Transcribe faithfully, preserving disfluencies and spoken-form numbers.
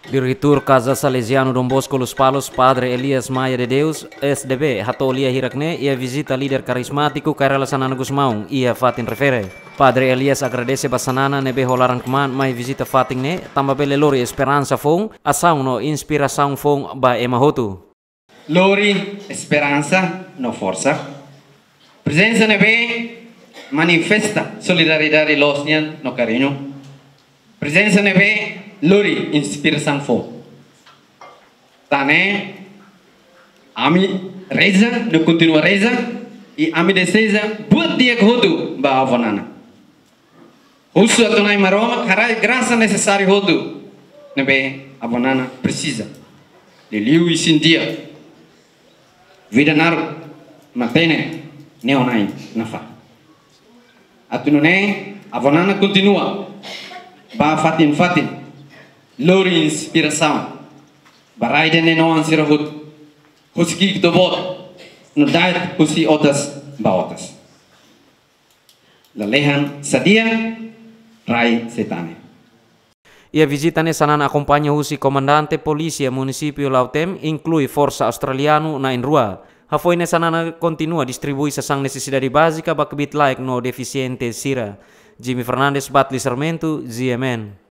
Diretór Kaza Salezianu Don Bosco Lospalos, Padre Elias Maia de Deus, S D B, hato'o lia hirak-ne'e iha vizita líder karizmátiku Kay Rala Xanana Gusmão iha fatin refere. Padre Elias agradese ba Xanana ne'ebé ho laran-kmaan mai vizita fatin ne'e, tanba bele lori esperansa foun, asaun no inspirasaun foun ba ema hotu. Lori esperansa no forsa. Prezensa ne'ebé manifesta solidariedade loos nian no kariñu. Prezensa ne'ebé lori inspirasaun foun. Tan ne'e, ami reza no kontinua reza, i ami dezeja buat di'ak hotu ba Avó Nana. Husu atu Na'i Maromak haraik grasa nesesáriu hotu ne'ebé Avó Nana presiza. Liuliu isin-di'ak, vida naruk, matenek, neonai nafatin. Atu nune'e Avó Nana kontinua ba fatin-fatin lori inspirasaun ba rai ida-ne'e noan sira hotu, husi ki'ik to'o boot, no da'et husi otas ba otas. Lalehan sadia, rai sei tan ne'e. Iha vizita ne'e Xanana akompaña husi komandante polísia munisípiu Lautém, inklui forsa australianu na'in-rua. Hafoin ne'e Xanana kontinua distribui sasán nesesidade bázika ba kbiit-laek no defisiente sira. Jimmy Fernandes, Batli Sarmento, G M N.